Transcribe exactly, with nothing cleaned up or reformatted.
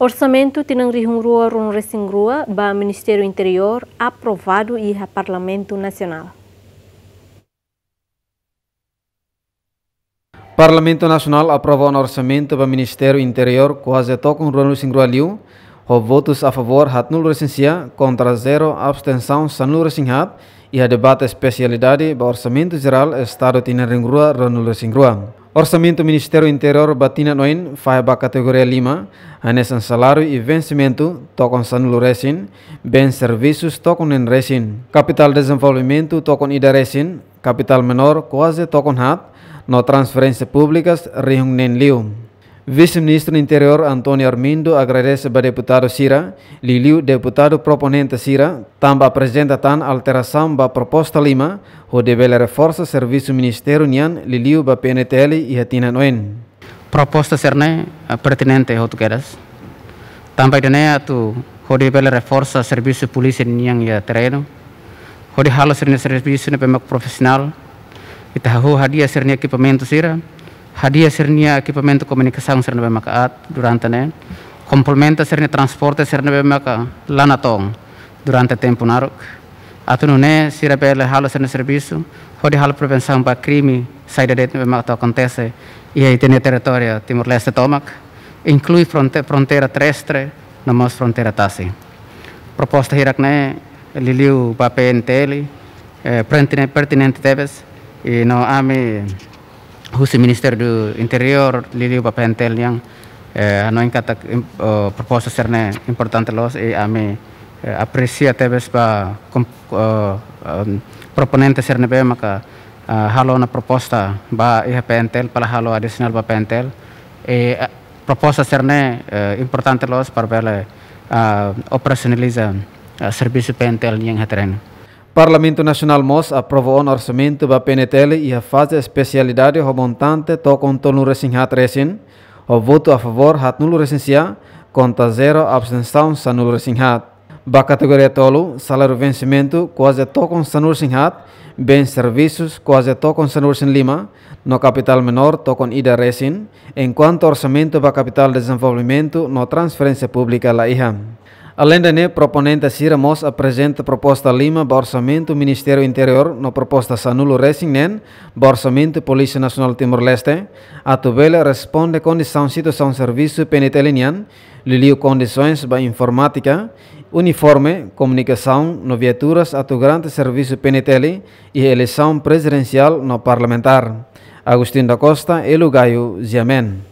Orsamentu tinan rihun rua ruanulu resin rua ba Ministériu Interiór aprovadu iha Parlamentu Nasionál. Parlamentu Nasionál aprova ona orsamentu ba Ministériu Interiór kuaze tokon ruanulu resin rua liu, ho votus a favór haatnulu resin sia, kontra zero, abstensaun sanulu resin haat, iha debate espesialidade ba Orsamentu Jerál Estadu tinan rihun rua ruanulu resin rua. Orsamentu Ministériu Interiór ba tinan oin fahe ba kategoria lima, hanesan saláriu i vensimentu tokon sanulu resin, bens servisus tokon neen resin, kapitál dezenvolvimentu tokon ida resin, kapitál menór kuaze tokon haat, no transferénsia públikas rihun neen liu. Vise-Ministru Interiór António Armindo agradese ba deputadu sira, liuliu deputadu proponente sira, tanba aprezenta tan alterasaun ba proposta lima, hodi bele reforsa servisu ministériu nian, liuliu ba P N T L iha tinan oin. Proposta sira-ne'e, eh, pertinente hotu kedas. Tanba ida-ne'e atu hodi bele reforsa servisu polísia nian iha terrenu. Hodi halo sira-nia servisu ne'ebé mak profisionál. Ita hahú hadi'a sira-nia ekipamentu sira, hadi'a sira-nia ekipamentu komunikasaun sira ne'ebé mak aat durante ne'e. Komplementa sira-nia transporte sira ne'ebé mak la natoon durante tempu naruk. Atu nune'e sira bele halo sira-nia servisu, hodi halo prevensaun ba krime saida de'it ne'ebé mak atu akontese iha ita-nia territóriu Timor-Leste tomak, inklui fronte-, fronteira terrestre, no mós fronteira tasi. Proposta hirak-ne'e liuliu ba P N T L, eh, pertine-, pertinente tebes, i no ami husi Ministériu Interiór, liuliu ba P N T L nian, eh, hanoin katak im-, eh, proposta sira-ne'e importante loos, i ami, eh, apresia tebes ba kom-, eh, em, proponente sira ne'ebé maka, eh, halo ona proposta ba iha P N T L, para halo adisionál ba P N T L. I, eh, proposta sira-ne'e, eh, importante loos para bele, eh, operasionaliza, eh, servisu P N T L nian iha terrenu. Parlamentu Nasionál mós aprova ona orsamentu ba P N T L iha faze espesialidade ho montante tokon tolunulu resin haat resin, ho votu a favór haatnulu resin sia, kontra zero, abstensaun sanulu resin haat. Ba kategoria tolu, saláriu vensimentu kuaze tokon sanulu resin haat, bens servisus kuaze tokon sanulu resin lima, no kapitál menór tokon ida resin, enkuantu orsamentu ba kapitál dezenvolvimentu no transferénsia públika la iha. Aleinde ne'e, proponente sira mós aprezenta proposta lima ba orsamentu Ministériu Interiór no proposta sanulu resin neen ba orsamentu Polísia Nasionál Timor-Leste, atu bele responde kondisaun situasaun servisu P N T L nian, liuliu kondisoens ba informátika, uniforme, komunikasaun no viaturas atu garante servisu P N T L iha eleisaun prezidensiál no parlamentár. Agostinho da Costa, Elo Gayo, G M N.